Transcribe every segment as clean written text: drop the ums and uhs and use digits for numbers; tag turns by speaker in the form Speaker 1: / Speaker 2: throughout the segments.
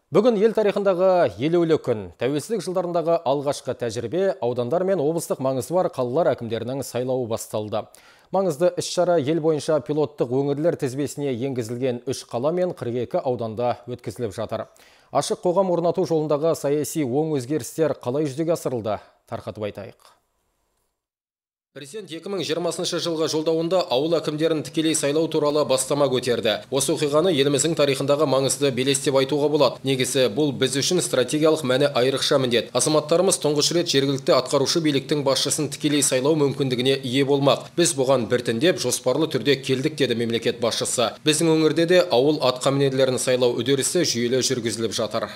Speaker 1: Бүгін ел тарихындағы елеулі күн. Тәуелсіздік жылдарындағы алғашқы тәжірибе, аудандар мен облыстық маңызы бар қалалар әкімдерінің сайлауы басталды. Маңызды іс-шара ел бойынша пилоттық өңірлер тізбесіне енгізілген 3 қала мен 42 ауданда өткізіліп жатыр. Ашық қоғам орнату жолындағы саяси оң өзгерістер қалай жүзеге асырылды? Тарқатып айтайық. Президент 2020 жылғы жолдауында ауыл әкімдерін тікелей сайлау туралы бастама көтерді. Осы оқиғаны еліміздің тарихындағы маңызды белес деп айтуға болады. Негізі бұл біз үшін стратегиялық мәні айрықша міндет. Азаматтарымыз тұңғыш рет жергілікті атқарушы биліктің басшысын тікелей сайлау мүмкіндігіне ие болмақ. Біз бұған біртіндеп жоспарлы түрде келдік, деді мемлекет басшысы. Біздің өңірде де ауыл атқамінерлерін сайлау үдерісі жүйелі жүргізіліп жатыр.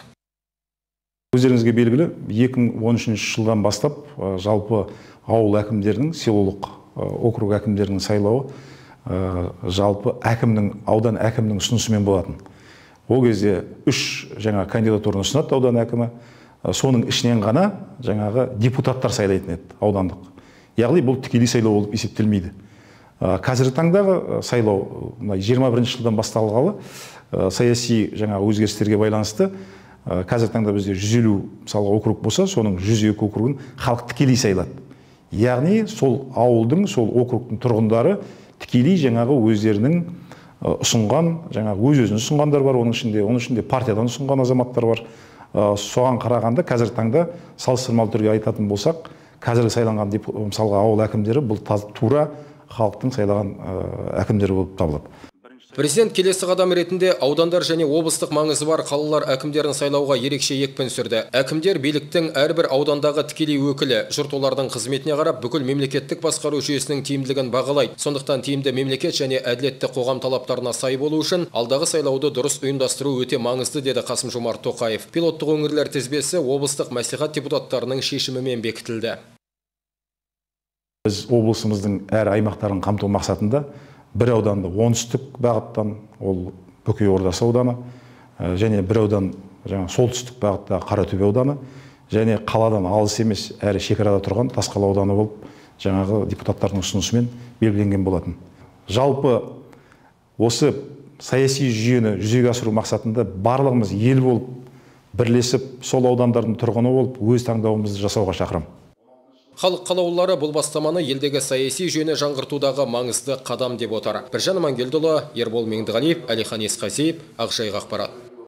Speaker 2: Өздеріңізге белгілі, 2013 жылдан бастап жалпы ауыл әкімдерінің, селолық округ әкімдерінің сайлауы жалпы аудан әкімнің ұсынысымен болатын. Ол кезде 3 жаңа кандидатураны ұсынады аудан әкімі, соның ішінен ғана жаңағы депутаттар сайлайтын еді аудандық. Яғни бұл тікелей сайлау болып есептелмейді. Қазіргі таңдағы сайлау 21 жылдан басталғалы саяси жаңа өзгерістерге байланысты қазіргі таңда бізде 150 мысалға округ болса, соның 102 округын халық тікелей сайлады. Яғни сол ауылдың, сол округтың тұрғындары тікелей жаңағы өздерінің ұсынған, жаңағы өз-өзін ұсынғандар бар, оның ішінде партиядан ұсынған азаматтар бар. Соған қарағанда қазіргі таңда салыстырмалы түрде айтатын болсақ, қазіргі сайланған мысалға ауыл әкімдері бұл тура халықтың сайлаған әкімдері болып табылады.
Speaker 1: Президент келесі қадам ретінде аудандар және облыстық маңызы бар қалалар әкімдерін сайлауға ерекше екпін түсірді. Әкімдер биліктің әрбір аудандағы тікелей өкілі, жұрт олардың қызметіне қарап бүкіл мемлекеттік басқару жүйесінің тиімділігін бағалайды. Сондықтан тиімді мемлекет және әділетті қоғам талаптарына сай болу үшін алдағы сайлауды дұрыс ұйымдастыру өте маңызды, деді Қасым-Жомарт Тоқаев. Пилоттық өңірлер тізбесі облыстық мәслихат депутаттарының шешімімен бекітілді.
Speaker 2: Біз облысымыздың әр аймақтарын қамту мақсатында бір ауданды оңтүстік бағыттан, ол Бөкей Ордасы ауданы, және бір аудан солтүстік бағытта Қаратөбе ауданы, және қаладан алыс емес, әрі шекарада тұрған Тасқала ауданы болып, жаңағы депутаттардың ұсынысымен белгіленген болатын. Жалпы осы саяси жүйені жүзеге асыру мақсатында барлығымыз ел болып, бірлесіп, сол аудандардың тұрғыны болып, өз таңдауымызды жасауға шақырамын.
Speaker 1: Халық қалаулылары бұл бастаманы елдегі саяси жүйені жаңғыртудағы маңызды қадам деп отыр. Біржан Амангелдіұлы, Ербол Меңдіғалиев, Әлихан Есқазиев, Ақжайық ақпарат.